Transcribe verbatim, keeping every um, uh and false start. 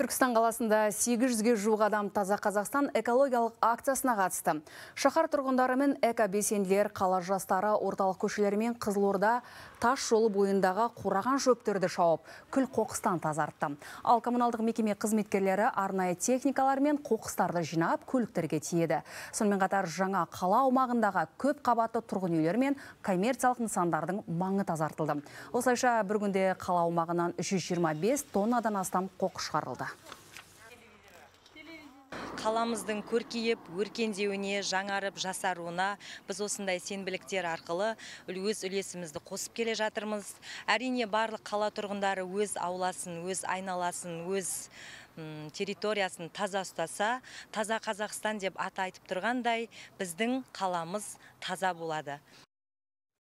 Түркістан қаласында сегіз жүзге жуық адам Таза Қазақстан экологиялық акциясына қатысты. Шаһар тұрғындары мен эко-белсенділер қала жастары орталық көшелері мен Қызылорда тас жолы бойындағы қураған шөптерді шауып, күл қоқыстан тазартты. Ал коммуналдық мекеме қызметкерлері арнайы техникалар мен қоқыстарды жинап, көліктерге тиеді. Сонымен қатар жаңа қала аумағындағы көп қабатты тұрғын үйлер мен коммерциялық нысандардың маңы тазартылды. Осылайша бір күнде қала аумағынан жүз жиырма бес тоннадан астам қоқыс шығарылды. Қаламыздың көркейіп, өркендеуіне, жаңарып, жасаруына біз осындай сенбіліктер арқылы өз үлесімізді қосып келе жатырмыз. Әрине барлық қала тұрғындары өз ауласын, өз айналасын, өз территориясын таза ұстаса, таза Қазақстан деп аты айтып тұрғандай, біздің қаламыз таза болады.